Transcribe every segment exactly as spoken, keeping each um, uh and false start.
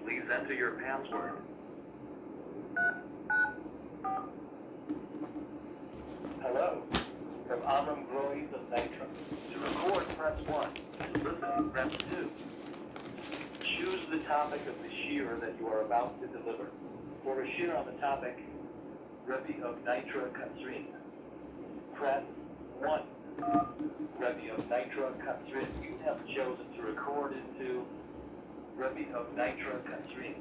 Please enter your password. Hello, from Amram Groys of Nitra. To record, press one. To listen, press two. Choose the topic of the shiur that you are about to deliver. For a shiur on the topic, Rebbe of Nitra Katzrin, press one. Rebbe of Nitra Katzrin, you have chosen to record into Rebbe of Nitra Katzrin.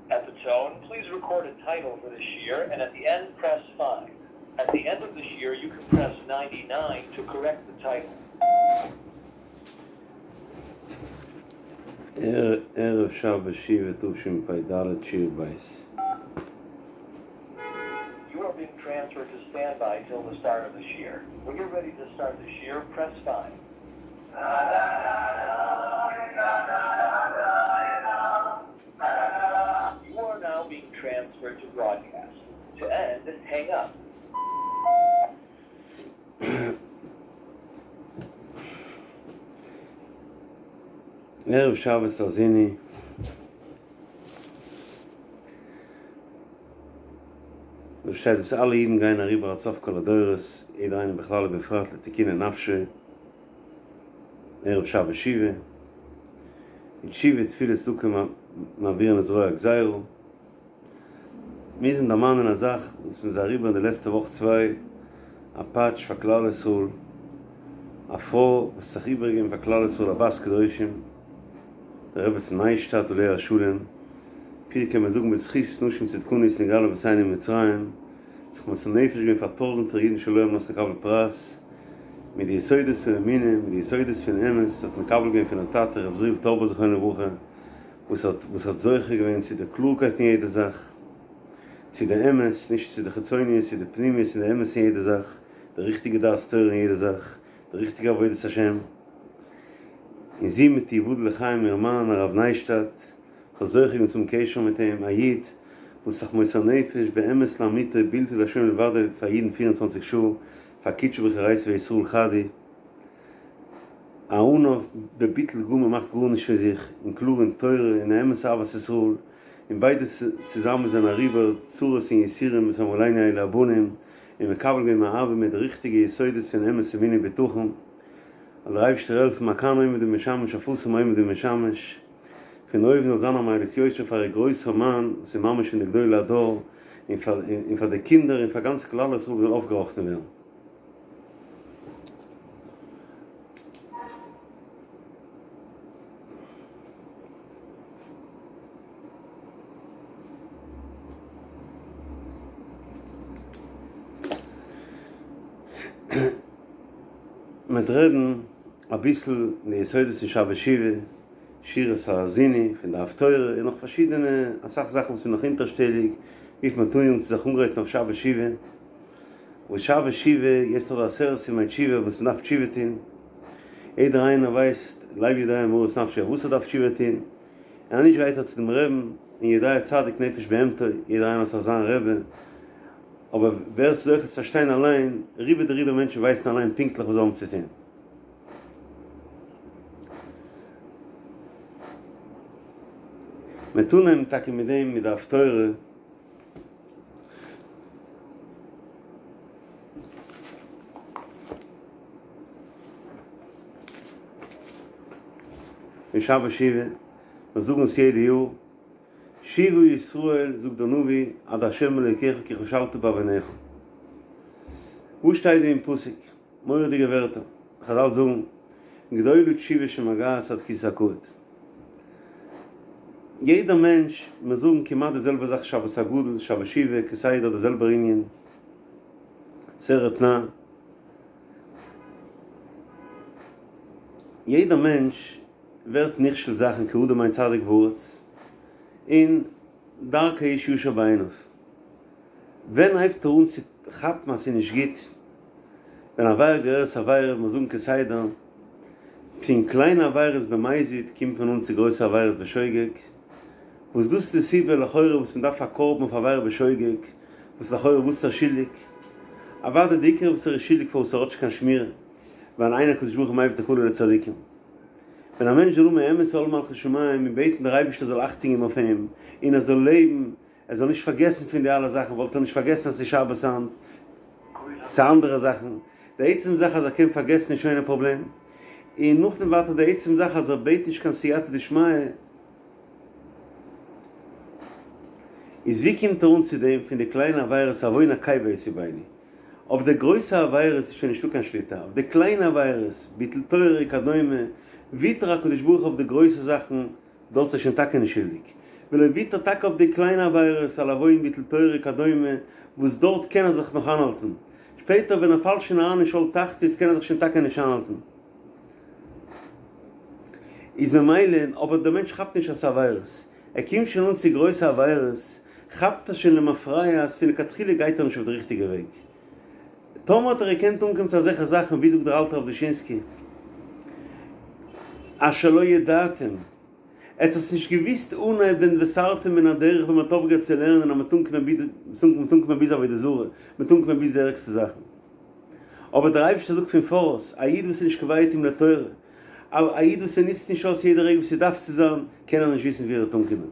At the tone, please record a title for the shiur, and at the end, press five. At the end of the shiur, you can press ninety-nine to correct the title. ערב שבת שובה תשפ"ד שיעור בית. You are being transferred to standby till the start of the shiur. When you're ready to start the shiur, press five. You are now being transferred to broadcast. To end, hang up. ערב שבת האזינו, דא שטייט אז אלע אידן גייען אריבער עד סוף כל הדורות, יעדער איינער בכלל ובפרט לתיקוני נפשו, ערב שבת שובה, און תשובה תפילה צדקה מעבירין את רוע הגזירה. מיר זענען דערמאנען א זאך וואס מ'איז אריבער אין די לעצטע וואך צוויי, א פאטש פאר כלל ישראל, א פרוי וואס האט זיך איבערגעגעבן פאר כלל ישראל א בת קדושים, די רעבעצין ניישטאדט עליה השלום, אפילו קען מען זאגן בזכות נשים צדקניות נגאלו אבותינו ממצרים, זיך מוסר נפש געווען פאר טויזענטער אידן שלא על מנת לקבל פרס, מיט די יסודות פון אמונה, מיט די יסודות פון אמת, האט מקבל געווען פון איר טאטע רבי עזריאל טויבער זכרונו לברכה, וואס האט וואס האט זוכה געווען צו די קלארקייט אין יעדע זאך, צו די אמת, נישט צו די חיצוניות, צו די פנימיות און די אמת אין יעדע זאך, די ריכטיגע דעת תורה אין יעדע זאך, די ריכטיגע עבודת השם. און זי מיט יבדל לחיים איר מאן הרב ניישטאדט, האט זוכה געווען צום קשר מיט אים, א איד וואס זיך מוסר נפש באמת לאמיתו בלתי לה' מלבדו פאר אידן פֿיר און צוואַנציק שעה, פאר קודשא בריך הוא אורייתא וישראל חד הוא, א עניו בביטול גמור מאכט גארנישט פון זיך, און קלאר אין תורה און אמת אהבת ישראל, און ביידע צוזאמען זענען אריבער צרות און יסורים וואס האבן עלינו אלו הבנים, און מקבל געווען מאהבה מיט די ריכטיגע יסודות פון אמת אמונה ובטחון. זאל דער אייבערשטער העלפן מכאן עומד ומשמש אפסים עומד ומשמש, פון אויבן זאל זיין א מעלות יושר פאר איר גרויסער מאן וואס איז ממש פון די גדולי הדור, און פאר און פאר די קינדער און פאר גאנץ כלל ישראל זאל אויפגעראכטן ווערן. מ'וועט רעדן אביסל אין די יסודות פון שבת שובה, שירת האזיני פון די הפטורה און נאך פארשידענע אסאך זאכן וואס איז נאך אונטערשטעליג וויפיל מיר טוען צו זיך אנגרייטן אויף שבת שובה, וואס שבת שובה יעצט נאך די עשרת ימי תשובה וואס מ'דארף תשובה טון, יעדער איינער ווייסט לב יודע מרת נפשו אויף וואס ער דארף תשובה טון, און אז נישט גייט ער צו דעם רעבן און יודע צדיק נפש בהמתו, יעדער איינער האט זיך זיין רבי. אבער ווער ס'איז זוכה צו פארשטיין אליין, רובא דרובא מענטשן ווייסן אליין פונקטליך וואס זיי האבן צו טון. מ'וועט אנהייבן טאקע מיט דעם מיט די הפטורה. פון שבת שובה, מיר זאגן עס יעדע יאר. שובה ישראל, זאגט דער נביא, עד ה' אלוקיך כי כשלת בעונך. וואס שטייט דא אין פסוק? מורא'דיגע ווערטער. חזל זאגן, גדולה תשובה שמגעת עד כסא הכבוד. יעדער מענטש, מיר זאגן כמעט די זעלבע זאך שבת הגדול, שבת שובה, כסדר די זעלבער ענין, סרט נע. יעדער מענטש ווערט נכשל זאכן כי האדם אין צדיק בארץ, און דרכי איש ישר בעיניו. ווען הייבט ער אן צו כאפן אז ס'איז נישט גוט? ווען עבירה גוררת עבירה, מיר זאגן כסדר, פון קליינע עבירות במזיד קומט מען אן צו גרויסע עבירות בשוגג, וואס דאס איז די סיבה לכאורה וואס מען דארף א קרבן אויף עבירה בשוגג, וואס לכאורה וואס איז ער שולדיג? אוודאי די עיקר וואס ער איז שולדיג פארוואס ער האט נישט קיין שמירה, ווייל אין הקדוש ברוך הוא מביא תקלה לצדיקים. ווען א מענטש זאל האבן אמת עול מלכות שמים און בעטן דער אייבערשטער זאל אכטונג געבן אויף אים און ער זאל לעבן, ער זאל נישט פארגעסן פון די אלע זאכן, וואלט ער נישט פארגעסן אז ס'איז שבת היינט, צו אנדערע זאכן. די עצם זאך אז ער קען פארגעסן איז שוין א פראבלעם. און נאכדעם ווייטער די עצם זאך אז ער בעט נישט קיין סייעתא דשמיא, איז ווי קומט ער אן צו דעם פון די קליינע עבירות עוון עקביא יסיבני? אויף די גרויסע עבירות איז שוין נישטא קיין שליטה, אויף די קליינע עבירות, ביטול תורה וכדומה, וויתר הקדוש ברוך הוא אויף די גרויסע זאכן, דארט איז ער שוין טאקע נישט שולדיג, ווייל ער וויתרט טאקע אויף די קליינע עבירות על עוון ביטול תורה וכדומה, וואס דארט קען ער זיך נאך איינהאלטן, שפעטער ווען ער פאלט שוין אריין אין שאול תחתית קען ער זיך שוין טאקע נישט איינהאלטן. איז ממילא, אבער דער מענטש כאפט נישט אז ס'איז עבירות, ער קומט שוין אן צו גרויסע עבירות, כאפט ער שוין למפרע אז פון לכתחילה גייט ער נישט אויף די ריכטיגע וועג. טאמער האט ער געקענט אנקומען צו אזעלכע זאכן, ווי זאגט דער אלטער רב דושינסקי, אשר לא ידעתם, עטס האטס נישט געוויסט אנהייב ווען וסרתם מן הדרך ווען מ'האט אויפגעהערט צו לערנען אז מ'וועט אנקומען ביז עבודה זרה, מ'וועט אנקומען ביז די ערגסטע זאכן. אבער דער אייבערשטער זאגט פון פאראויס, א איד וואס איז נישט קובע עתים לתורה, א איד וואס ער נוצט נישט אויס יעדע רגע ווי ס'דארף צו זיין, קען ער נישט וויסן ווי ער וועט אנקומען.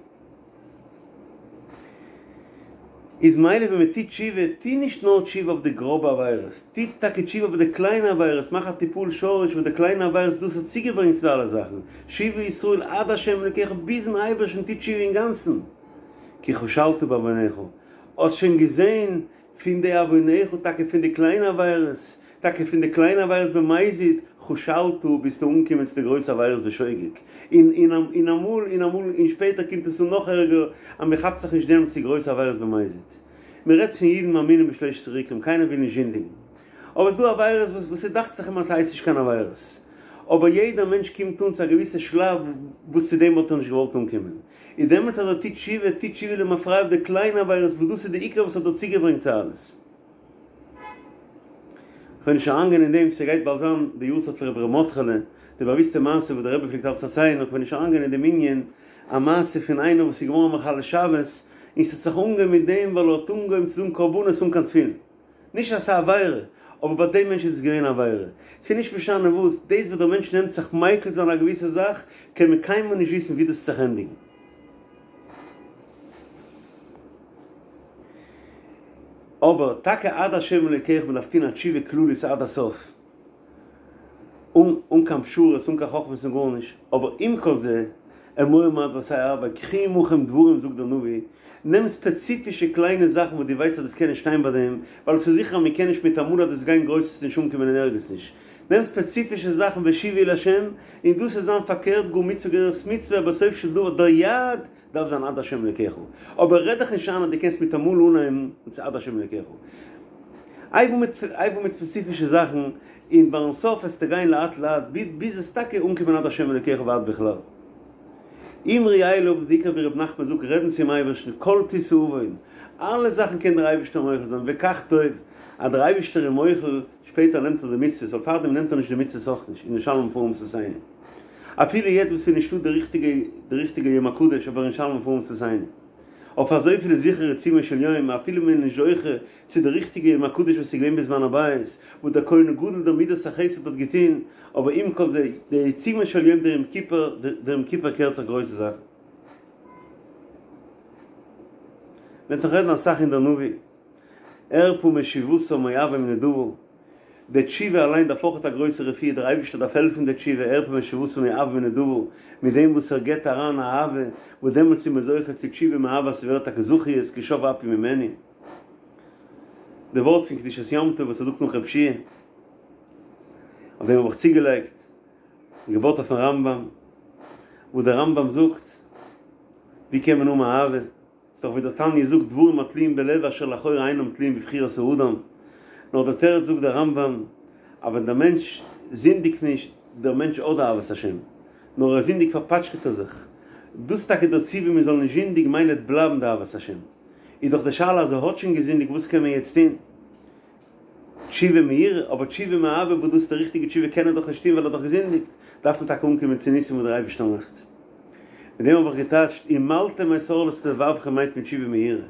איז מילא ווען מען טוט תשובה, טו נישט נאר תשובה אויף די גראבע עבירות, טו טאקע תשובה אויף די קליינע עבירות, מאך א טיפול שורש אויף די קליינע עבירות, דאס האט צוגעברענגט צו די אלע זאכן, שובה ישראל עד ה' אלוקיך, ביזן אייבערשטן טו תשובה אינגאנצן, כי כשלת בעונך, האסט שוין געזען פון די עונך, טאקע פון די קליינע עבירות, טאקע פון די קליינע עבירות במזיד, כשלת, ביסטו אנגעקומען צו די גרויסע עבירות בשוגג, און און אמאל און אמאל און שפעטער קומט עס אן נאך ערגער, אז מען כאפט זיך נישט דעם צו גרויסע עבירות במזיד. מען רעדט פון אידן מאמינים בשלושת עיקרים, קיינער וויל נישט זינדיגן. אבער ס'דא עבירות וואס וואס ס'דאכט זיך אים אז ס'הייסט נישט קיין עבירות. אבער יעדער מענטש קומט אן צו א געוויסע שלב וואס צו דעם וואלט ער נישט געוואלט אנקומען. און דעמאלטס אז ער טוט תשובה, טוט תשובה למפרע אויף די קליינע עבירות וואס דאס איז די עיקר וואס האט דיר צוגעברענגט צו אלעס. כ'וועל נישט אריינגיין אין דעם, ס'גייט באלד זיין די יארצייט פון רבי ר' מרדכי'לע, די באוויסטע מעשה וואס דער רבי פלעגט אלץ פארציילן, כ'וועל נישט אריינגיין אין דעם ענין, א מעשה פון איינער וואס איז געווארן מחלל שבת, און ס'האט זיך אנגעהויבן מיט דעם ווייל ער האט אנגעהויבן צו זאגן קרבנות אן קיין תפילין. נישט אז ס'איז א עבירה, אבער ביי דעם מענטש איז עס געווען א עבירה. ס'איז נישט משנה וואס, דאס וואס דער מענטש נעמט זיך מיקל זיין א געוויסע זאך, קען מען קיינמאל נישט וויסן ווי דאס וועט זיך ענדיגן. אבער טאקע עד השם אלוקיך מען דארף טון א תשובה כללית עד הסוף, אן אן קיין פשרות אן קיין חכמות און גארנישט, אבער עם כל זה, אמור מעט ועשה הרבה, קחו עמכם דברים זאגט דער נביא, נעם ספעציפישע קליינע זאכן וואס דו ווייסט אז דאס קען נישט שטיין ביי דעם, ווייל עס איז זיכער אז מען קען נישט מיטאמאל אז דאס גיין גרויס וועסטו נישט אנקומען אין ערגעץ נישט, נעם ספעציפישע זאכן ושובו אל השם, און דאס איז זיין פארקערט גאר מצוה גוררת מצוה בסוף של דבר דער יעד דארף זיין עד השם אלוקיך, אבער רעד דיך נישט איין אז דו קענסט מיטאמאל אנהייבן צו עד השם אלוקיך. הייב אן מיט הייב אן מיט ספעציפישע זאכן, און ביים סוף וועסטו גיין לאט לאט ביז וועסט טאקע אנקומען עד השם אלוקיך ועד בכלל. אמרו אליו די עיקר ווי ר' נחמן זאגט רעדן צום אייבערשטן כל תשא עון, אלע זאכן קען דער אייבערשטער מוחל זיין וכך טוב, אז דער אייבערשטער איז מוחל, שפעטער נעמט ער די מצוות, אבער פארדעם נעמט ער נישט די מצוות אויך נישט, ונשלמה פרים שפתינו. אפילו יעצט וואס ס'איז נישטא די ריכטיגע די ריכטיגע יום הקדוש אבער ונשלמה פרים שפתינו. אויף אזויפיל איז זיכער עיצומו של יום אפילו מען איז נישט זוכה צו די ריכטיגע יום הקדוש וואס איז געווען בזמן הבית וואס דער כהן הגדול דער מידת החסד האט געטון, אבער עם כל זה די עיצומו של יום דער יום כיפור דער יום כיפור קערט זיך גרויסע זאכן. מ'וועט נאך רעדן אסאך אין דער נביא. ארפא משובתם מאוים נדבה, די תשובה אליין דארף אויך א גרויסע רפואה, דער אייבערשטער דארף העלפן די תשובה, ארפא משובתם מאוים נדבה, מיט דעם וואס ער גיבט אריין אהבה, וואס דעמאלטס איז מען זוכה צו תשובה מאהבה, ס'ווערט טאקע זכיות כי שב אפי ממנו. די ווארט פון קדושת יום טוב וואס ער זאגט נאך רב שיע, אויף דעם האב איך צוגעלייגט, געבויט אויפן רמב"ם, וואס דער רמב"ם זאגט, ווי קען מען האבן אהבה? ס'איז דאך ווי דער תניא זאגט דברים התלויים בלב אשר לכאורה אינם תלויים בבחירת האדם, נאר דער תירוץ זאגט דער רמב"ם אז ווען דער מענטש זינדיגט נישט, דער מענטש האט אהבת השם, נאר ער זינדיגט פארפאטשקעט ער זיך, דאס איז טאקע דער ציווי מען זאל נישט זינדיגן ממילא וועט בלייבן די אהבת השם, איז דאך די שאלה אז ער האט שוין געזינדיגט וואס קען מען יעצט טון? תשובה מיראה, אבער תשובה מאהבה וואס דאס איז די ריכטיגע תשובה קען ער דאך נישט טון ווייל ער האט דאך געזינדיגט, דארף מען טאקע אנקומען צו ניסים וואס דער אייבערשטער מאכט. מיט דעם האב איך געטייטשט ומלתם את ערלת לבבכם מיינט מען תשובה מיראה,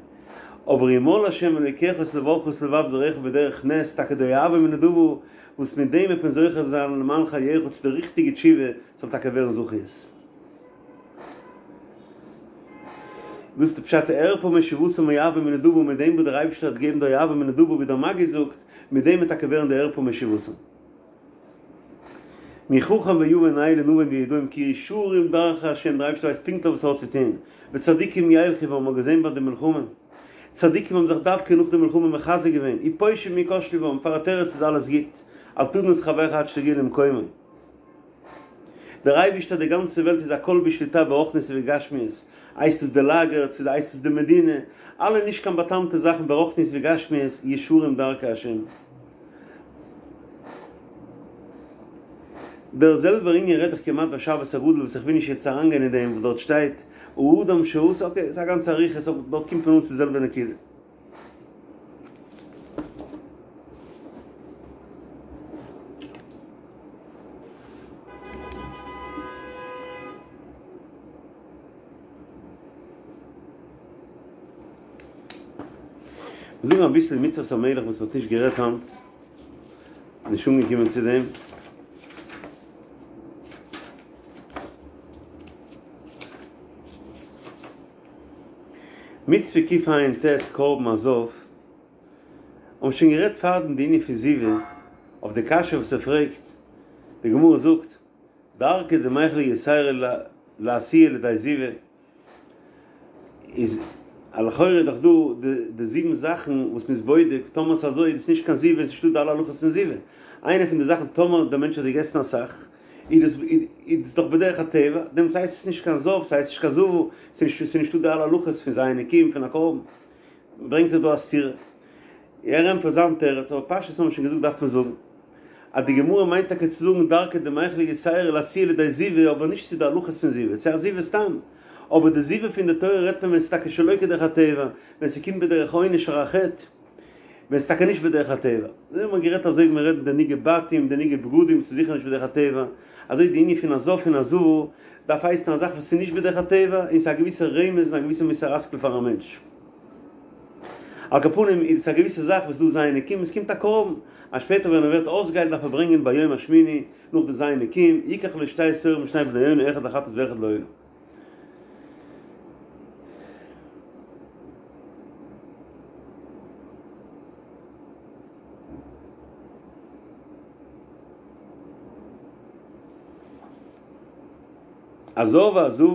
אבער ימול השם אלוקיך את לבבך ואת לבב זרעך בדרך נס, טאקע די אוהבי מנדבו, וואס מיט דעם וועט מען זוכה זיין למען חייך צו די ריכטיגע תשובה, זאל טאקע ווערן זכיות. דאס איז די פשט אערפה משובתם אוהבי מנדבה, מיט דעם וואס דער אייבערשטער האט געגעבן די אוהבי מנדבה ווי דער מגיד זאגט, מיט דעם וועט טאקע ווערן די אערפה משובתם. מי חכם ויבן אלה נבון וידעים כי ישרים דרכי השם, דער אייבערשטער ווייסט פונקטליך וואס ער האט צו טון, וצדיקים ילכו בם, מ'האט געזען ביי די מלחמה, צדיקים האבן זיך דווקא נאך די מלחמה מחזק געווען, ופושעים יכשלו בם, פאר א תירוץ איז אלעס גוט, אל תדין את חברך עד שתגיע למקומו. דער אייבערשטער די גאנצע וועלט איז הכל בשליטה ברוחניות ובגשמיות, הייסט עס די לאגער צו הייסט עס די מדינה, אלע נישט קיין באטאמטע זאכן ברוחניות וגשמיות, ישרים דרכי השם. דער זעלבער ענין רעדט זיך כמעט ביי שבת הגדול וואס איך וויל נישט יעצט אריינגיין אין דעם וואס דארט שטייט האדם שעשה, אקעי ס'איז א גאנצע אריכות אבער דארט קומט מען אן צו די זעלבע נקודה. מיר זאגן אביסל מצוות המלך וואס מ'האט נישט גערעדט היינט, נישט אנגעקומען צו דעם. מצוה קע"ט קרבן הזב, האבן שוין גערעדט פארדעם די ענין פון זיבה, אויף די קשיא וואס ער פרעגט, די גמרא זאגט, דרכא דמיכלא יתירא לאתויי לידי זיבה, איז לכאורה דאך דא די זיבן זאכן וואס מ'איז בודק, טאמער ס'איז אזוי איז עס נישט קיין זיבה און ס'נישטא די אלע הלכות פון זיבה. איינע פון די זאכן טאמער דער מענטש האט געגעסן אסאך, איז דאס דאך בדרך הטבע, דעמאלטס הייסט עס נישט קיין זב, ס'הייסט נישט קיין זבה, ס'איז נישטא די אלע הלכות פון ז' נקיים פון א קרבן. ברענגט ער דא א סתירה. ער ענטפערט זיין תירוץ, אבער פשטות האבן מיר שוין געזאגט דארף מען זאגן אז די גמרא מיינט טאקע צו זאגן דרכא דמיכלא יתירא לאתויי לידי זיבה אבער נישט צו די הלכות פון זיבה, צו א זיבה סתם, אבער די זיבה פון די תורה רעדט מען ווען ס'איז טאקע שלא כדרך הטבע, ווען ס'קומט בדרך עונש פאר א חטא, ווען ס'איז טאקע נישט בדרך הטבע. אזוי האט מען גערעדט אזוי ווי מ'רעדט די נגעי בתים, די נגעי בגדים, ס'איז זיכער נישט בדרך הטבע, אזוי די ענין פון א זב און א זבה דארף הייסן א זאך וואס איז נישט בדרך הטבע און ס'איז א געוויסע רמז און א געוויסע מוסר השכל פאר א מענטש. על כל פנים איז עס א געוויסע זאך וואס דא ז' נקיים, עס קומט א קרבן, אז שפעטער ווען ער ווערט אויסגעהיילט דארף ער ברענגען ביום השמיני נאך די ז' נקיים, יקח לו שתי תורים ושני בני יונה אחד לחטאת ואחד לעולה. א זב וזבה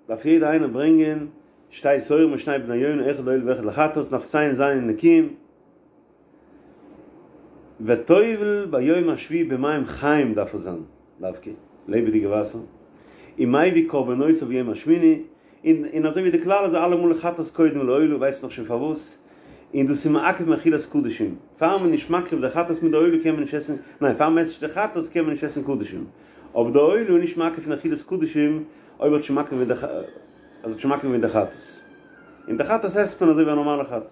דארף יעדער איינער ברענגען שתי תורים ושני בני יונה אחד לעולה ואחד לחטאת דארף ציילן ז' נקיים וטובל ביום השביעי במים חיים דארף עס זיין דווקא לעבעדיגע וואסער ומביא קרבנותיו ביום השמיני און און אזוי ווי די כלל איז אלעמאל חטאת קודם לעולה ווייסט מען דאך שוין פארוואס און דאס איז מעכב מאכילת קדשים פאר מען איז נישט מקריב די חטאת מיט די עולה קען מען נישט עסן ניין פאר מען עסט נישט די חטאת קען מען נישט עסן קדשים אבער די עולה איז נישט מעכב פון אכילת קדשים אויב האט שוין מקריב געווען די אז האט שוין מקריב געווען די חטאת. און די חטאת עסט מען אזוי ווי א נארמאלע חטאת.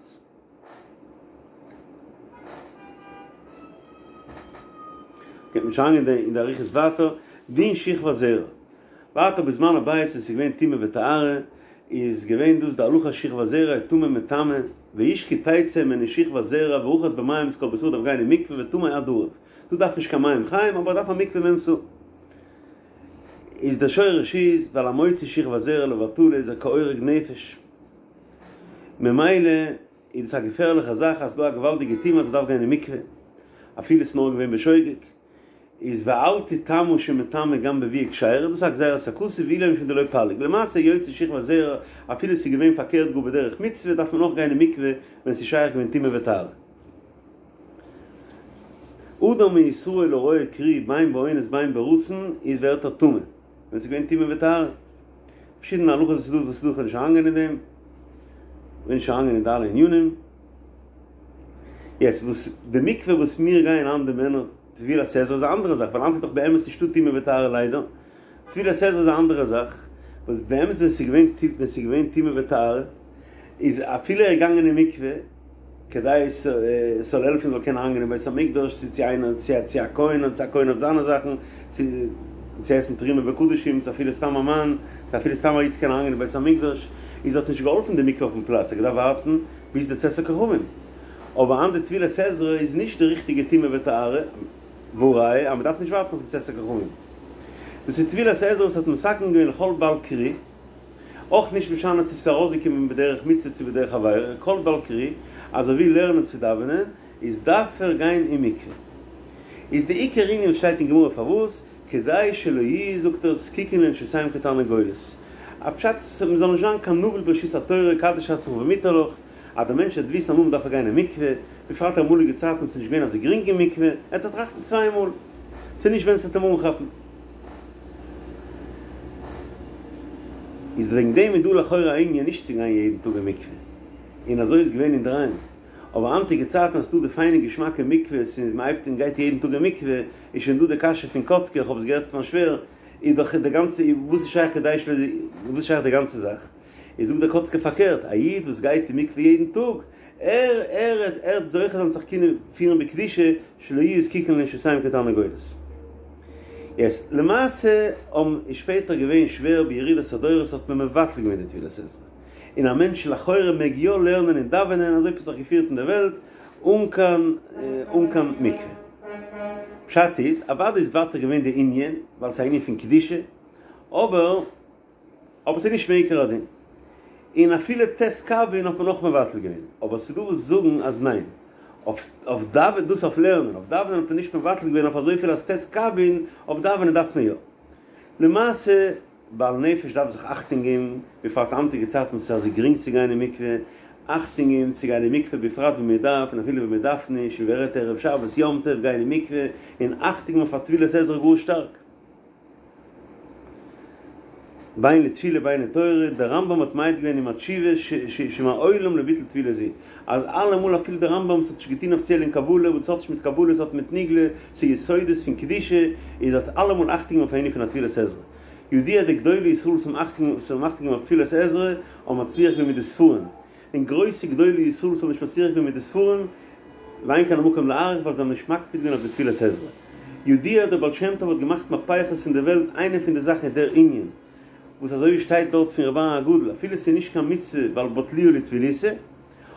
גייט מען שוין אריין אין די אריכות ווייטער, דין שכבת זרע. ווייטער בזמן הבית ווען ס'איז געווען טומאה וטהרה, איז געווען דאס די הלכה שכבת זרע איז טמא מטמא, ואיש כי תצא ממנו שכבת זרע ורחץ במים את כל בשרו דארף גיין אין מקווה וטמא עד ערב. דא דארף נישט קיין מים חיים אבער דארף א מקווה מ' סאה. איז דער שורש איז ווייל המוציא שכבת זרע לבטלה איז ער כהורג נפש ממילא איז דאס א געפערליכע זאך אז ס'דא א געוואלדיגע טומאה אז ער דארף גיין אין מקווה אפילו ס'איז נאר געווען בשוגג איז ואל תטמא שמטמא גם בביאה כשרה דאס איז א גזירת הכתוב ואילו משום דלא פליג למעשה יוציא שכבת זרע אפילו ס'איז געווען פארקערט גאר בדרך מצוה דארף מען אויך גיין אין מקווה ווען ס'איז שייך געווען טומאה וטהרה. אדם מישראל הרואה קרי בין באונס בין ברצון איז ווערט ער טמא ווען ס'איז געווען טומאה וטהרה. פארשידענע הלכות וואס איז דא וואס איז דא כ'וועל נישט אריינגיין אין דעם. כ'וויל נישט אריינגיין אין די אלע ענינים. יעצט וואס די מקווה וואס מיר גייען היינט די מענער טבילת עזרא איז א אנדערע זאך ווייל היינט איז דאך באמת נישטא טומאה וטהרה ליידער. טבילת עזרא איז א אנדערע זאך וואס באמת ווען ס'איז געווען ווען ס'איז געווען טומאה וטהרה איז אפילו ער איז געגאנגען אין מקווה כדי עס זאל העלפן זאל קענען אריינגיין אין בית המקדש צו צו איינער צו צו א כהן צו א כהן אויף זיינע זאכן צו צו עסן תרומה וקדשים צו אפילו סתם א מאן צו אפילו סתם א איד צו קענען אריינגיין אין בית המקדש איז האט נישט געהאלפן די מקווה אויפן פלאץ ער האט געדארפט ווארטן ביז די צאת הכוכבים. אבער אן די טבילת עזרא איז נישט די ריכטיגע טומאה וטהרה, והא ראיה אז מ'דארף נישט ווארטן אויפן צאת הכוכבים. דאס איז טבילת עזרא וואס האט מתקן געווען לכל בעל קרי, אויך נישט משנה צו ס'איז ארויסגעקומען בדרך מצוה צו בדרך עבירה, כל בעל קרי אז ער וויל לערנען צו דאווענען איז דארף ער גיין אין מקווה. איז די עיקר ענין וואס שטייט אין גמרא פארוואס כדי שלא יהיו זאגט ער זקוקין לנשותיהם כתרנגולת. א פשט מ'זאל נישט זיין קיין נבל ברשות התורה קדש עצמך במותר לך אז דער מענטש וועט וויסן אמאל מ'דארף ער גיין אין מקווה, בפרט אמאליגע צייטן וואס ס'איז נישט געווען אזוי גרינג אין מקווה, ער וועט טראכטן צוויי מאל, ס'איז נישט ווען ס'וועט אים אנכאפן. איז וועגן דעם איז דא לכאורה א ענין נישט צו גיין יעדן טאג אין מקווה, און אזוי איז געווען אינדערהיים, אבער היינטיגע צייטן אז ס'דא די פיינע געשמאקע מקווה'ס און מ'הייבט און גייט יעדן טאג אין מקווה, איז שוין דא די קשיא פון קאצקער, איך האב עס געהערט פון מיין שווער, איז דאך די גאנצע, וואס איז שייך כדי שלא, וואס איז שייך די גאנצע זאך? איז זאגט דער קאצקער פארקערט, א איד וואס גייט אין מקווה יעדן טאג, ער ער ער וועט זוכה זיין זיך קענען פירן בקדושה, שלא יהיו זקוקין לנשותיהם כתרנגולת. יעצט, למעשה האבן איז שפעטער געווען שווער בירידת הדורות האט מען מבטל געווען די טבילת עזרא, און א מענטש לכאורה מעג יא לערנען און דאווענען, אזוי האט מען זיך געפירט אין די וועלט, אן קיין אן קיין מקווה. פשט איז, אוודאי איז ווייטער געווען די ענין, ווייל ס'איז א ענין פון קדושה, אבער אבער ס'איז נישט מעיקר הדין. און אפילו ט' קבין האט מען אויך מבטל געווען. אבער ס'דא וואס זאגן אז ניין. אויף אויף דאווענען, דאס אויף לערנען, אויף דאווענען האט מען נישט מבטל געווען אויף אזויפיל אז ט' קבין, אויף דאווענען דארף מען יא. למעשה, בעל נפש דארף זיך אכטונג געבן, בפרט היינטיגע צייטן וואס ס'איז אזוי גרינג צו גיין אין מקווה, אכטונג געבן צו גיין אין מקווה בפרט ווען מען דארף און אפילו ווען מען דארף נישט, און ווער רעדט ערב שבת יום טוב גיין אין מקווה, און אכטונג געבן אויף א טבילת עזרא גאר שטארק. בין לתפילה בין לתורה, דער רמב"ם האט מעיד געווען אין התשובה שמעולם לא ביטל טבילה זו, אז אלעמאל אפילו דער רמב"ם וואס האט נישט געטון אפיציעל אין קבלה, וואס האט נישט מיט קבלה עס האט מיט נגלה, ס'איז יסודות פון קדושה, איז האט אלעמאל אכטונג געגעבן אויף ענין פון א טבילת עזרא. ידוע די גדולי ישראל וואס האבן אכטונג געגעבן אויף טבילת עזרא האבן מצליח געווען מיט די ספרים, און גרויסע גדולי ישראל וואס האבן נישט מצליח געווען מיט די ספרים, ואין כאן המקום להאריך ווייל זיי האבן נישט מקפיד געווען אויף די טבילת עזרא. ידוע דער בעל שם טוב האט געמאכט מהפכות אין די וועלט איינע פון די זאכן איז דער ענין וואס אזוי ווי שטייט דארט פון ר' אהרן הגדול אפילו ס'איז נישט קיין מצוה ווייל בטלוה לטבילותא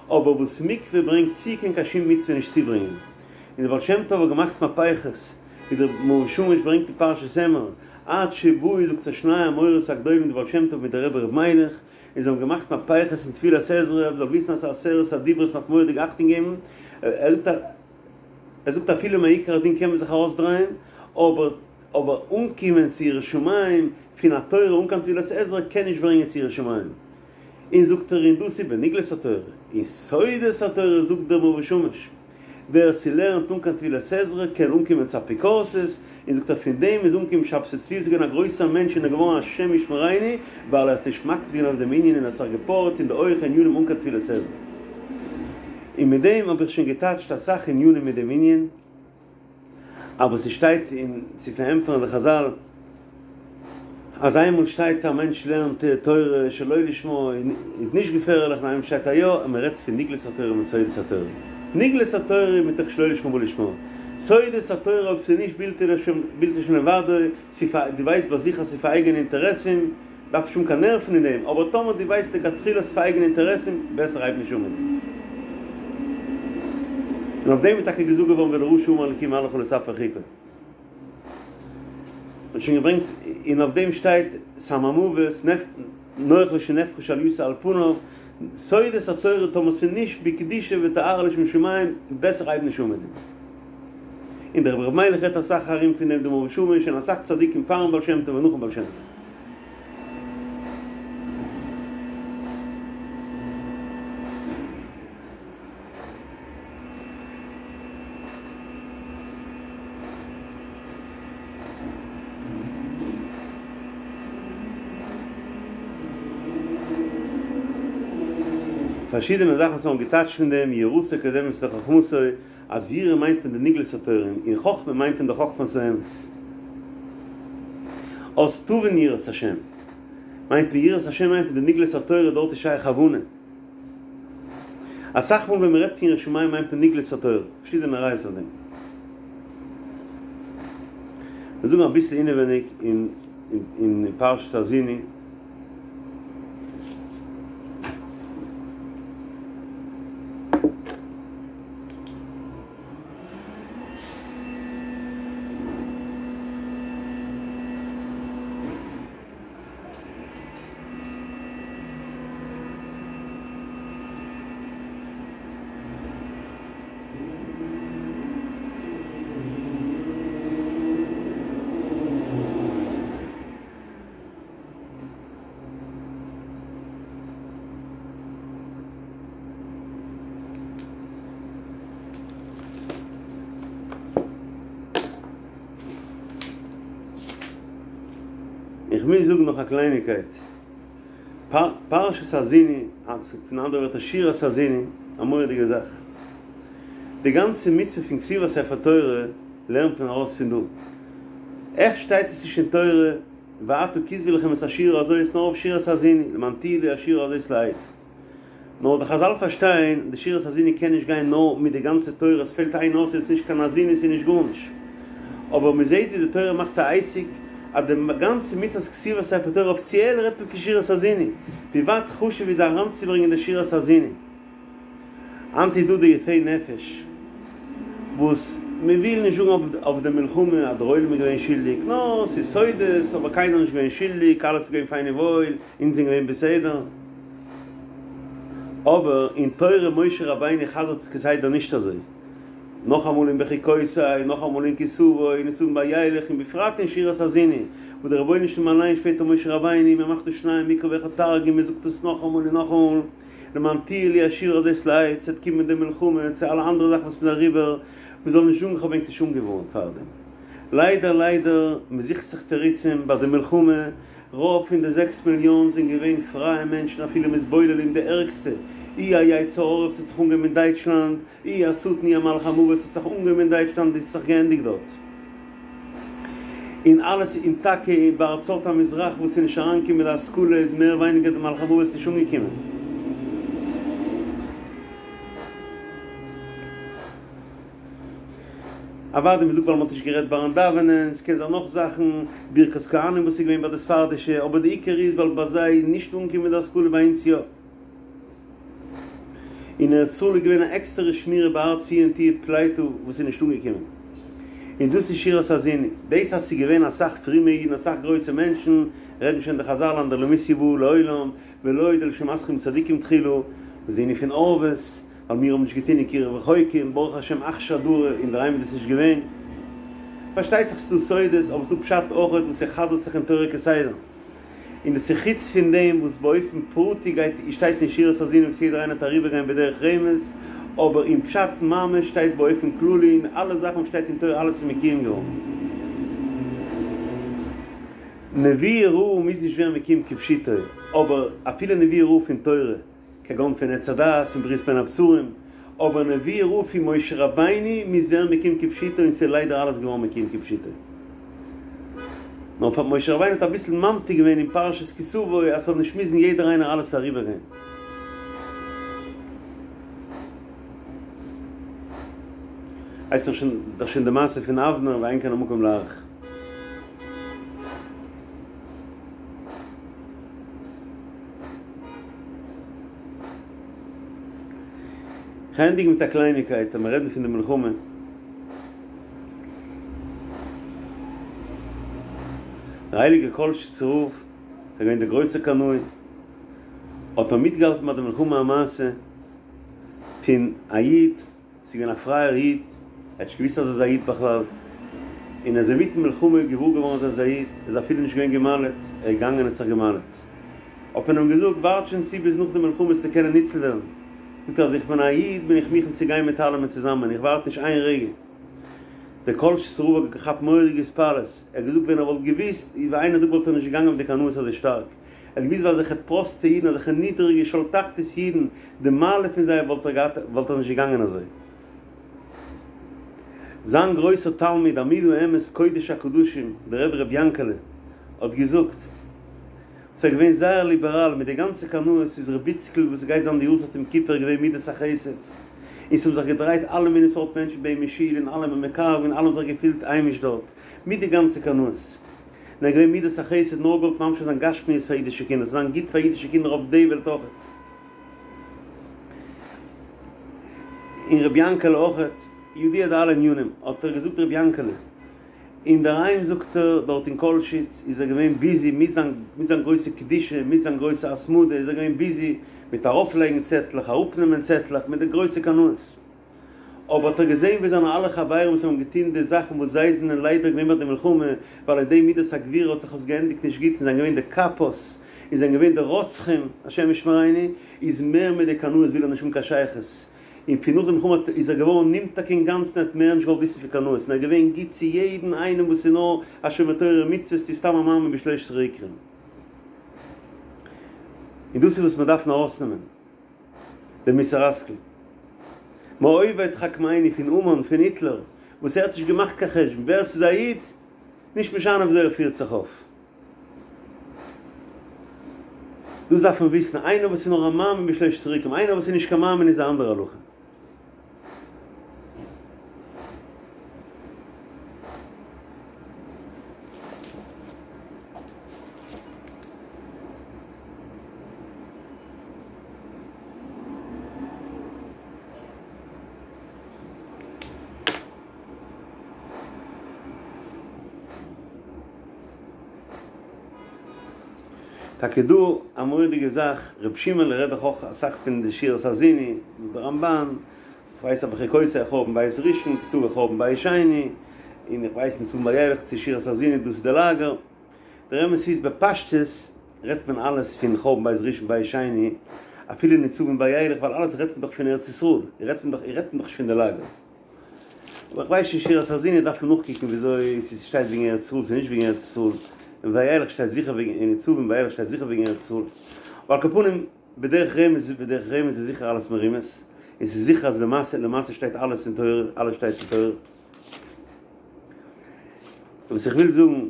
אבער וואס מקווה ברענגט צו קען קיין שום מצוה נישט צוברענגען און דער בעל שם טוב האט געמאכט מהפכות ווי דער מאור ושמש ברענגט אין פרשת אמור עד שבאו זאגט ער שני המאורות הגדולים דער בעל שם טוב מיט דער רבי ר' מיילעך און זיי האבן געמאכט מהפכות אין טבילת עזרא, מ'זאל וויסן אז ס'איז עשרת הדיברות מ'דארף מורא'דיג אכטונג געבן, ער זאגט ער זאגט אפילו מעיקר הדין קען מען זיך ארויסדרייען, אבער אבער אנקומען צו יראת שמים פון א תורה אן קיין טבילת עזרא קען נישט ברענגען צו יראת שמים. און זאגט ער און דאס איז בנגלות התורה, אין סודות התורה זאגט דער מאור ושמש. ווער ס'לערנט אן קיין טבילת עזרא קען אנקומען צו אפיקורסות, און זאגט ער פון דעם איז אנגעקומען שבתי צבי איז געווען א גרויסער מענטש און איז געווארן השם ישמרינו ווייל ער האט נישט מקפיד געווען אויף דעם ענין און האט זיך געפארעט אין די הויכע ענינים אן קיין טבילת עזרא. און מיט דעם האב איך שוין געטאטשט אסאך ענינים מיט דעם ענין. אבער ס'שטייט אין צו פארענטפערן די חזל אז איינמאל שטייט א מענטש לערנט תורה שלא לשמה איז נישט געפערליך און איינמאל שטייט א יא און מ'רעדט פון נגלות התורה מיט סודות התורה. נגלות התורה איז מתוך שלא לשמה בא לשמה. סודות התורה אויב ס'איז נישט בלתי לשם לבדו, דו ווייסט ביי זיך אז ס'איז פאר אייגענע אינטערעסים, דארף נישט האבן קיין נערוון אין דעם, אבער טאמער דו ווייסט לכתחילה ס'איז פאר אייגענע אינטערעסן, בעסער הייב נישט אן מיט דעם. און אויף דעם איז טאקע געזאגט געווארן ולרשע אמר אלקים מה לך לספר חוקי. מ'האט שוין געברענגט, און אויף דעם שטייט סם המוות, נוח לו שנהפכה שלייתו על פניו, סודות התורה טאמער ס'איז נישט בקדושה וטהרה לשם שמים, בעסער הייב נישט אן מיט דעם. און דער רבי ר' מיילעך רעדט אסאך ארום פון דעם דער מאור ושמש און אסאך צדיקים פארן בעל שם טוב און נאכן בעל שם טוב. פארשידענע זאכן וואס מ'האט געטייטשט פון דעם, יראתו קודמת לחכמתו, אז יראה מיינט מען די נגלות התורה און חכמה מיינט מען די חכמת האמת. אז תבין יראת השם מיינט מען יראת השם מיינט מען די נגלות התורה דארט איז שייך הבנה. אסאך מאל ווען מען רעדט פון יראת שמים מיינט מען נגלות התורה. פארשידענע ראיות אויף דעם. מיר זאגן אביסל אינעווייניג אין אין פרשת האזיני. איך מוז זאגן נאך א קלייניקייט. פרשת האזיני, אין אנדערע ווערטער שירת האזיני, א מורא'דיגע זאך. די גאנצע מצוה פון כתיבת ספר תורה לערנט מען ארויס פון דא. עכט שטייט עס נישט אין תורה, ועתה כתבו לכם את השירה הזאת, נאר אויף שירת האזיני, למען תהיה לי השירה הזאת לעד. נאר די חזל פארשטיין, די שירת האזיני קען נישט גיין נאר מיט די גאנצע תורה, עס פעלט איין אות איז עס נישט קיין האזיני עס איז נישט גארנישט. אבער מען זעט ווי די תורה מאכט א עסק אז די גאנצע מצוות כתיבת ספר תורה אפיציעל רעדט מען פון שירת האזיני, ווי ווייט חשוב איז אריינצוברענגען די שירת האזיני. היינט איז דא די יפי נפש וואס מען וויל נישט זאגן אויף די מלחמה אז דער עולם איז געווען שולדיג, נאר ס'איז סודות אבער קיינער איז נישט געווען שולדיג, אלעס איז געווען פיין און וואויל, אונז זענען געווען בסדר. אבער אין תורה משה רבינו חזר'ט עס כסדר נישט אזוי. נאכאמאל אין בחוקותי, נאכאמאל אין כי תבוא, און איצט אין וילך, און בפרט אין שירת האזיני, וואו דער רבונו של עולם אליין שפעטער משה רבינו, מען מאכט דא שנים מקרא ואחד תרגום, מען זאגט עס נאכאמאל און נאכאמאל, למען תהיה לי השירה הזאת לעד, ס'וועט קומען די מלחמה, צו אלע אנדערע זאכן וואס מ'איז אריבער, מ'זאל נישט זאגן כ'האב ענק נישט אנגעווארנט פארדעם. ליידער ליידער, מ'זוכט זיך תירוצים ביי די מלחמה, רוב פון די זעקס מיליאן זענען געווען פרייע מענטשן אפילו מתבוללים די ערגסטע, אי א יצר הרע וואס האט זיך אנגעהויבן אין דייטשלאנד, אי השטן אי המלאך המוות האט זיך אנגעהויבן אין דייטשלאנד און ס'האט זיך געענדיגט דארט. און אלעס און טאקע בארצות המזרח וואס איז נישט אריינגעקומען מיט די השכלה איז מער ווייניגער די מלאך המוות נישט אנגעקומען. אוודאי מ'זאגט ווייל מ'האט נישט גערעדט ביים דאווענען, ס'קען זיין נאך זאכן, ברכת כהנים וואס איז געווען ביי די ספרדישע, אבער די עיקר איז ווייל ביי זיי איז נישט אנגעקומען די השכלה ביי אונז יא. אין ארץ ישראל איז געווען א עקסטערע שמירה בהר ציון תהיה פליטה וואס איז נישט אנגעקומען. און דאס איז שירת האזיני. דאס אז ס'איז געווען אסאך פרומע אידן אסאך גרויסע מענטשן, רעדן שוין די חזל אנדרלמוסיא באה לעולם, ולא עוד אלא שמתחיל מצדיקים תחילה, וואס די ענין פון ערבות, ווייל מיר האבן נישט געטון אין קירוב רחוקים, ברוך השם אכשר דרא, אינדערהיים איז דאס נישט געווען. פארשטייט זיך ס'דא סודות, אבער ס'דא פשט אויכעט וואס ס'חזר'ט זיך אין תורה כסדר. און דאס איז חוץ פון דעם וואס באופן פרטי גייט שטייט אין שירת האזינו וואס יעדער איינער וועט אריבערגיין בדרך רמז, אבער אין פשט ממש שטייט באופן כללי און אלע זאכן וואס שטייט אין תורה אלעס איז מקוים געווארן. נבואה רעה מוז נישט ווערן מקוים כפשוטו, אבער אפילו נבואה רעה פון תורה, כגון פון עץ הדעת, פון ברית בין הבתרים, אבער נבואה רעה פון משה רבינו מוז ווערן מקוים כפשוטו און ס'איז ליידער אלעס געווארן מקוים כפשוטו. נאר פאר משה רבינו האט אביסל ממתיק געווען אין פרשת כי תבוא אז ס'זאל נישט מוזן יעדער איינער אלעס אריבערגיין. הייסט דאך שוין דאך שוין די מעשה פון אבנר ואין כאן המקום להאריך. כ'ענדיג מיט א קלייניקייט אז מיר רעדן פון די מלחמה. דער הייליגער קאלשיצער רב, איז געווען דער גרויסער קנאי, האט ער מיטגעהאלטן ביי די מלחמה א מעשה פון א איד, ס'איז געווען א פרייער איד, ער האט נישט געוואוסט אז ער איז א איד בכלל, און ער איז אינמיטן מלחמה געוואר געווארן אז ער איז א איד, ער איז אפילו נישט געווען גע'מל'ט, ער איז געגאנגען און האט זיך גע'מל'ט. האט מען אים געזאגט, ווארט שוין צו ביז נאך די מלחמה וועסטו קענען ניצל ווערן. זאגט ער, אז איך בין א איד בין איך מוכן צו גיין מיט אלעמען צוזאמען, איך ווארט נישט איין רגע. דער קאלשיצער רב האט געכאפט מורא'דיגע התפעלות, ער האט געזאגט ווען ער וואלט געוואוסט ווי איינער זאגט וואלט ער נישט געגאנגען מיט די קנאות אזוי שטארק, ער האט געוואוסט ווי אזעלכע פראסטע אידן אזעלכע נידריגע שאול תחתית אידן, די מעלה פון זיי וואלט ער געהאט וואלט ער נישט געגאנגען אזוי. זיין גרויסער תלמיד עמוד האמת קודש הקדשים דער רבי ר' יענקעלע האט געזאגט, וואס איז געווען זייער ליבעראל מיט די גאנצע קנאות איז ר' איציקל וואס גייט זיין די יארצייט יום כיפור געווען מידת החסד און ס'האבן זיך געדרייט אלע מיני סארט מענטשן ביי אים אין שול און אלעמען מקרב און אלע האבן זיך געפילט היימיש דארט מיט די גאנצע קנאות און ער איז געווען מידת החסד נאר געוואלט ממשיך זיין גשמיות פאר אידישע קינדער ס'זאל זיין גוט פאר אידישע קינדער אויף די וועלט אויכעט און ר' יענקעלע אויכעט ידוע די אלע ענינים האט ער געזאגט ר' יענקעלע אינדערהיים זאגט ער, דארט אין קאלשיץ איז ער געווען ביזי מיט זיין מיט זיין גרויסע קדושה, מיט זיין גרויסע התמדה איז ער געווען ביזי מיט ארויפלייגן צעטלעך, אראפנעמען צעטלעך, מיט די גרויסע קנאות. אבער האט ער געזען ווי זיינע אלע חברים וואס האבן געטון די זאכן וואס זיי זענען ליידער געווען ביי די מלחמה, ווייל אין די מידת הגבורה האט זיך עס געענדיגט נישט גוט און זענען געווען די קאפאס און זענען געווען די רוצחים, השם ישמרינו, איז מער מיט די קנאות וויל ער נישט האבן קיין שייכות. און פון נאך די מלחמה איז ער געווארן נמתק אינגאנצן ער האט מער נישט געוואלט וויסן פון קנאות און ער איז געווען גוט צו יעדן איינעם וואס איז נאר א שומר תורה ומצוות צו סתם א מאמין בשלושת עיקרים. און דאס איז וואס מיר דארפן ארויסנעמען די מוסר השכל. מאויבי תחכמני פון המן פון היטלער וואס ער האט נישט געמאכט קיין חשבון ווער ס'איז א איד נישט משנה וויאזוי ער פירט זיך אויף. דאס דארף מען וויסן, איינער וואס איז נאר א מאמין בשלושת עיקרים, איינער וואס איז נישט קיין מאמין איז א אנדערע הלכה. טאקע דא א מורא'דיגע זאך, ר' שמעון'לע רעדט דאך אויך אסאך פון די שירת האזיני, די רמבן, כ'ווייס אויף בחוקותי חורבן בית ראשון, כי תבוא חורבן בית שני, און איך ווייס נישט צו וילך צו שירת האזיני דאס איז די לאגער, דער אמת איז בפשטות רעדט מען אלעס פון חורבן בית ראשון בית שני, אפילו נצבים וילך ווייל אלעס רעדט מען דאך פון ארץ ישראל, רעדט מען דאך רעדט מען דאך נישט פון די לאגער. אבער איך ווייס נישט שירת האזיני דארף מען נאכקוקן וויאזוי ס'שטייט וועגן ארץ ישראל ס'איז נישט וועגן ארץ ישראל, אין וילך שטייט זיכער וועגן אין נצבים וילך שטייט זיכער וועגן ארץ ישראל, אבער על כל פנים בדרך רמז בדרך רמז איז זיכער אלעס מרומז, און ס'איז זיכער אז למעשה למעשה שטייט אלעס אין תורה אלעס שטייט אין תורה. וואס איך וויל זאגן.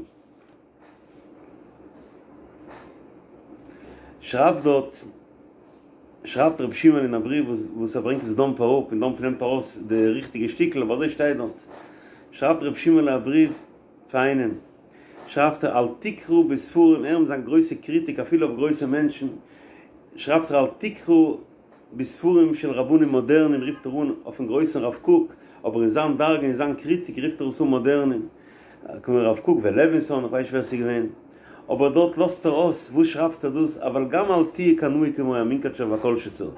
שרייבט דארט, שרייבט רבי שמעון אין א בריוו וואס ער ברענגט עס דאמפ אראפ און דאמפ נעמט ארויס די ריכטיגע שטיקל אבער אזוי שטייט דארט, שרייבט רבי שמעון א בריוו פאר איינעם, שרייבט ער אל תקרא בספרים, ער מיט זיין גרויסע קריטיק אפילו אויף גרויסע מענטשן, שרייבט ער אל תקרא בספרים של רבנים מודרניים רופט ער אן אויפן גרויסן רב קוק, אבער אין זיין דרגה אין זיין קריטיק רופט ער עס אן מודרניים, כמו רב קוק ולוינסון, איך ווייס נישט ווער ס'איז געווען, אבער דארט לאזט ער אויס, וואס שרייבט ער דאס, אבל גם אל תהיה קנאי כמו המונקאטשער והקאלשיצער.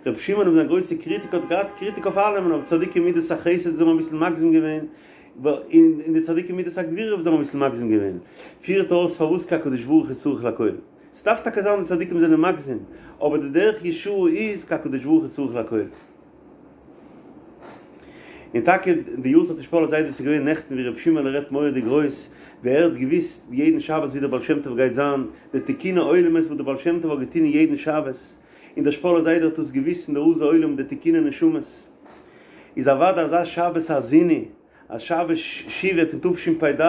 רבי שמעון מיט זיין גרויסע קריטיק האט געהאט קריטיק אויף אלעמען, אויף צדיקי מידת החסד זיי האבן אביסל מגזים געווען, און די צדיקי מידת הגבורה וואס זיי האבן אביסל מגזים געווען, פירט ער אויס פארוואס כי הקדוש ברוך הוא צריך לכל. ס'דארף טאקע זיין די צדיקים זענען מגזים, אבער די דרך ישרה איז כי הקדוש ברוך הוא צריך לכל. און טאקע די יארצייט פון שפאלער זיידע וואס איז געווען נעכטן ווי רבי שמעון'לע רעדט מורא'דיג גרויס, ווי ער האט געוויסט יעדן שבת ווי דער בעל שם טוב גייט זיין, די תיקוני עולמות וואס דער בעל שם טוב האט געטון יעדן שבת, און דער שפאלער זיידע האט דאס געוויסט אין די רזי עולם די תיקוני נשמות. איז אוודאי אזא שבת האזיני, א שבת שובה פון תשפ"ד,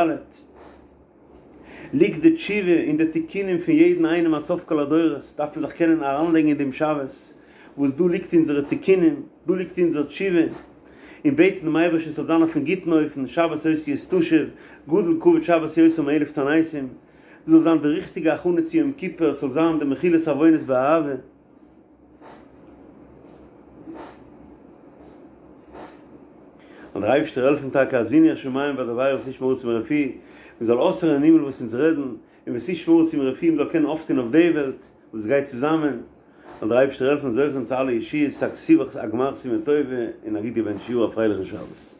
ליגט די תשובה און די תיקונים פון יעדן איינעם עד סוף כל הדורות, דארף מען זיך קענען אריינלייגן אין דעם שבת, וואס דא ליגט אונזערע תיקונים, דא ליגט אונזער תשובה, און בעטן דעם אייבערשטן ס'זאל זיין אויפן גוטן אופן, שבת אותיות תשוב, גדול כבוד שבת יותר מאלף תעניתים, דאס זאל זיין די ריכטיגע הכנה צו יום כיפור, ס'זאל זיין די מחילת עוונות באהבה. זאל דער אייבערשטער העלפן טאקע האזינו השמים ואדברה ותשמע הארץ אמרי פי, מען זאל אויסהערן אין הימל וואס אונז רעדן, און ותשמע הארץ אמרי פי, מען זאל קענען אויפטון אויף די וועלט וואס גייט צוזאמען, זאל דער אייבערשטער העלפן זוכה זיין צו אלע ישועות, א כתיבה א גמר חתימה טובה און א גוט געבענטשט יאר, א פרייליכן שבת.